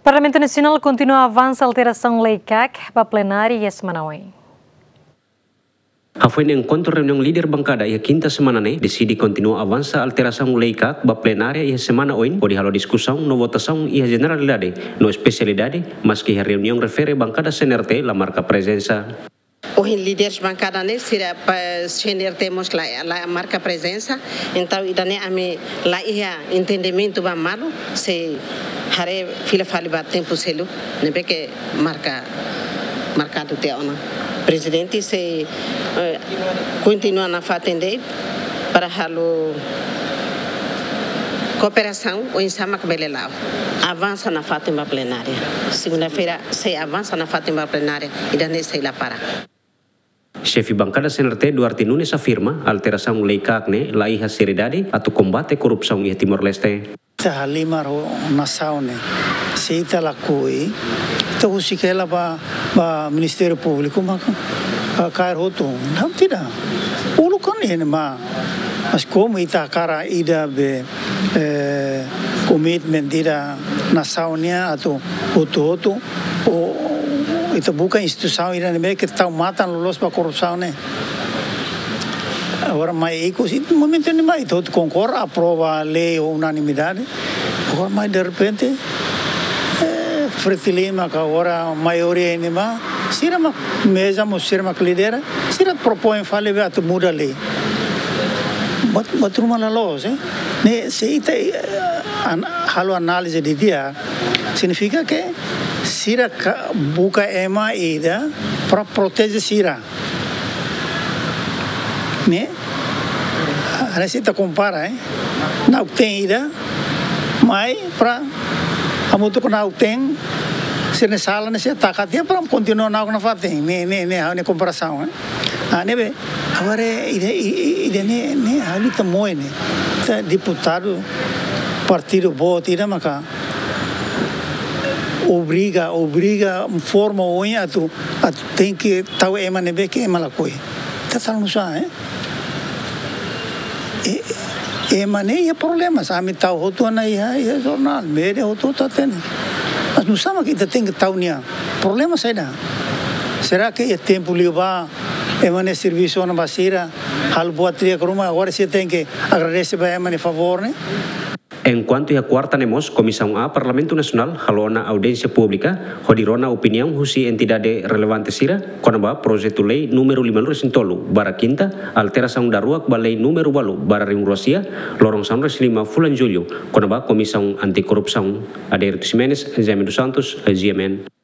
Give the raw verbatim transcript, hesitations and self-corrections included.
Parlamentu Nasionál kontinua avansa alterasaun lei kak ba plenária iha semana oin. Hafoin enkontru reuniaun líder bankada iha kinta semana ne'e, deside kontinua avansa alterasaun lei kak ba plenária iha semana oin, hodi halo diskusaun no votasaun iha jeneralidade no espesialidade, maski iha reuniaun refere bankada C N R T la marka prezensa. Ohin líderes bankada ne'e sira ba C N R T mós la, la marka prezensa, entaun ida-ne'e ami la iha entendimentu ba malu, sei haree fila fali ba tempu seluk ne'ebé ke marka, markadu tiha ona. Prezidente sei, eh, kontinua nafatin de'it para halo kooperasaun oinsá mak bele la'o. Avansa nafatin ba plenária. Segunda-feira sei avansa nafatin ba plenária. Ida-ne'e sei la para. Xefe bankada C N R T Duarte Nunes afirma alterasaun lei kak ne'e la iha seriedade atu kombate korrupsaun iha Timor-Leste. Ita halimar ho nasaun ne'e. Se ita lakohi, ita husik hela ba, ba Ministériu Públiku maka, ah, kaer hotu. Não, tidak. Uluk kan ne'e mak. Mas komu ita hakarak ida be, eh, komitmen ida nasaun nian atu hotu-hotu, ou ita buka instituisaun ida ne'ebé ke tau matan loloos ba korrupsaun ne'e. Agora mai ikus, momentu ne'ebá ita hotu konkorda, aprova lei ho unanimidade. Agora mai derrepente, eh, Fretilin mak agora maioria ne'ebá, sira mak meza mós sira mak lidera, sira propoin fali be atu muda lei. Buat, buat ruma la loos, eh. Ne'e se ita, eh, an-, halo análize didi'ak, signifika ke sira ka-, buka ema ida para proteje sira. Ne'e? Hanesan ita kompara, eh. Na'ok-teen ida mai para hamutuk ho na'ok-teen, sira-nia sala ne'e sira taka tiha para kontinua na'ok nafatin. Ne'e, ne'e, ne'e, ha'u-nia komparasaun, eh. Ah, ne'ebé, agora ida, i-, i-, ida-ne'e, ne'e, ha'u-nia temor ne'e. Ita deputadu partidu boot ida maka obriga, obriga forma oin atu, atu tenke tau ema ne'ebé ke ema lakohi. Ita halo nusá, eh? E, ema ne'e iha problema, ami tau hotu ona iha, iha jornál, média hotu-hotu hatene. Mas nusá mak ita tenke tau nia? Problema saida? Será ke iha tempu liubá, ema ne'e servisu ona ba sira, halo buat di'ak ruma, agora sira tenke agradese ba ema nia favór ne'e? Enkuantu iha kuarta ne'e mós, Komisaun A Parlamentu Nasionál halo ona audiénsia públika, hodi rona opiniaun husi entidade relevante sira, kona-ba projetu lei númeru lima-nulu-resin-tolu barra kinta, alterasaun daruak ba lei númeru ualu barra rihun rua sia, loron sanulu-resin-lima fulan Jullu, kona-ba Komisaun Anti-Korrupsaun. Adérito Ximenes, Jaime dos Santos, G M N.